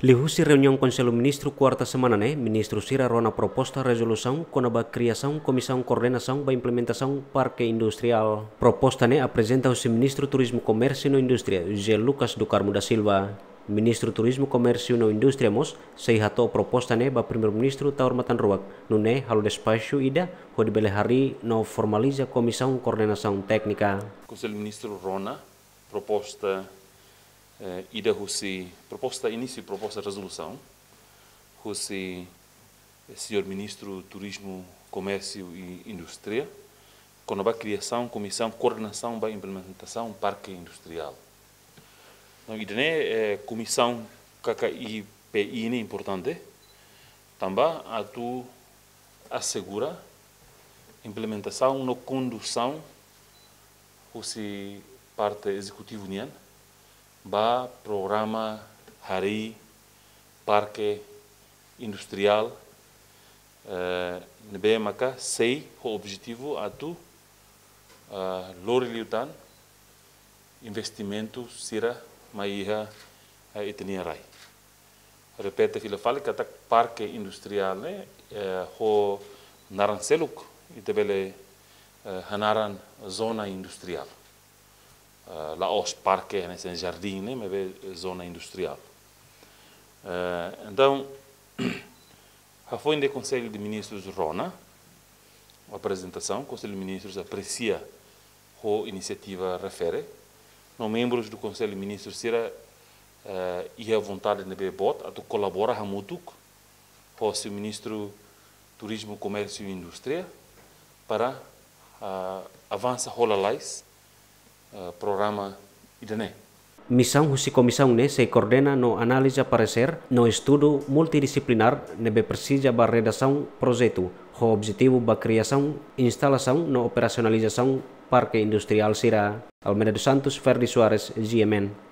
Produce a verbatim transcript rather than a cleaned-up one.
Liuhusi reuniaun Konsellu Ministru kuarta semana ne'e, ministru sira rona proposta rezolusaun kona-ba kriasaun Komisaun Koordenasaun ba Implementasaun Parke Industriál. Proposta ne'e aprezenta husi Ministru Turizmu, Komérsiu no Indústria, José Lucas do Carmo da Silva. Ministru Turizmu, Komérsiu no Indústria mós sei hato'o proposta ne'e ba Primeiru-Ministru Taur Matan Ruak, nune'e halo despaxu ida hodi bele harii no formaliza Komisaun Koordenasaun Téknika. Konsellu Ministru rona proposta, eh, ida husi, proposta inísiu, proposta rezolusaun husi, eh, señór Ministru Turizmu, Komérsiu i Indústria, kona-ba kriasaun Komisaun Koordenasaun ba Implementasaun Parke Industriál. Entaun, ida-ne'e, eh, komisaun K K I P I ne'e importante, tanba atu asegura implementasaun no kondusaun husi parte ezekutivu nian ba programa harii parke industriál, eh, ne'ebé maka sei ho objetivu atu, ah, lori liután investimentu sira mai iha, eh, ita-nia rai. Repete fila fali katak parke industriál ne'e, eh, ho naran seluk ita bele, eh, hanaran zona industriál. Eh, la'ós parke hanesan jardín ne'e, maibé zona industriál. Eh, entaun, hafoin de Konsellu de Ministrus rona aprezentasaun, Konsellu de Ministrus apresia ho inisiativa refere, no membrus do Konsellu de Ministrus sira, eh, iha vontade ne'ebé boot atu kolabora hamutuk ho señór Ministru Turizmu, Komérsiu i Indústria para, ah, avansa hola lalais, eh, programa ida-ne'e. Misaun husi komisaun ne'e sei koordena no analiza paresér no estudu multidisiplinár ne'ebé presiza ba redasaun projetu, ho objetivu ba kriasaun, instalasaun no operasionalizasaun parke industriál sira. Almeida dos Santos, Ferdi Soares, G M N.